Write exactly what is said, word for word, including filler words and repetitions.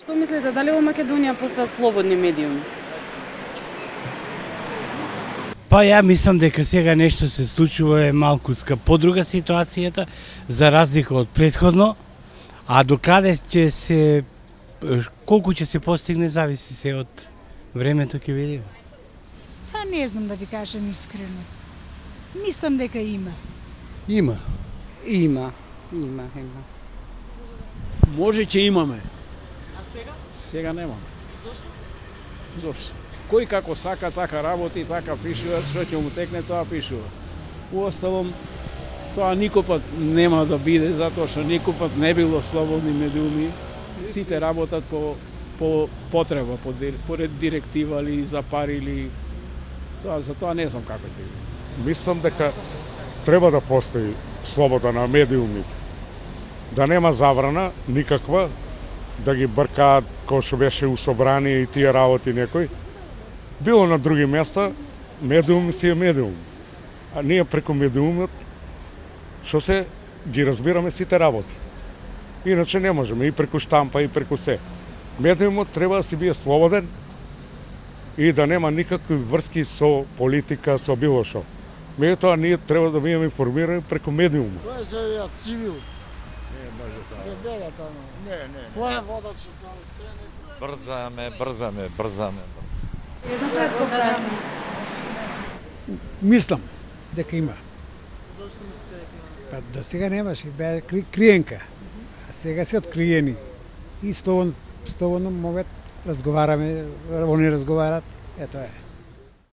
Што мислите, дали во Македонија постојат слободни медиуми? Па ја мислам дека сега нешто се случува е малкуцка подруга ситуацијата, за разлика од претходно, а докаде ќе се, колку ќе се постигне, зависи се од времето, ќе видиме. Па не знам да ви кажам искрено. Мислам дека има. Има. Има, има, има. Може ќе имаме. А сега? Сега немаме. Зошто? Зошто? Кој како сака, така работи, така пишува, што ќе му текне, тоа пишува. Уосталом, тоа никопат нема да биде, затоа што никопат не било слободни медиуми. Сите работат по, по потреба, по, поред директива или за пари или... Тоа, за тоа не знам како ќе биде. Мислам дека треба да постои слобода на медиумите. Да нема забрана никаква, да ги бркаат кој што беше у собрание и тие работи некој. Било на други места, медиум си е медиум. А ние преку медиумот, што се, ги разбираме сите работи. Иначе не можеме, и преку штампа, и преку се. Медиумот треба да си бие слободен и да нема никакви врски со политика, со било што. Меѓутоа, ние треба да бидеме информирани преку медиумот. Тоа е за ја цивил. Не, може тоа. Не, бега таму. Не, не. Тоа е водач тоа се не. Брзаме, брзаме, брзаме. Една кратко прашање. Мислам дека има. Зошто мислите дека има? Па до сега немаше, беа кри, криенка. А сега се откриени. И слободно, слободно могат разговараме, они разговарат. Ето е.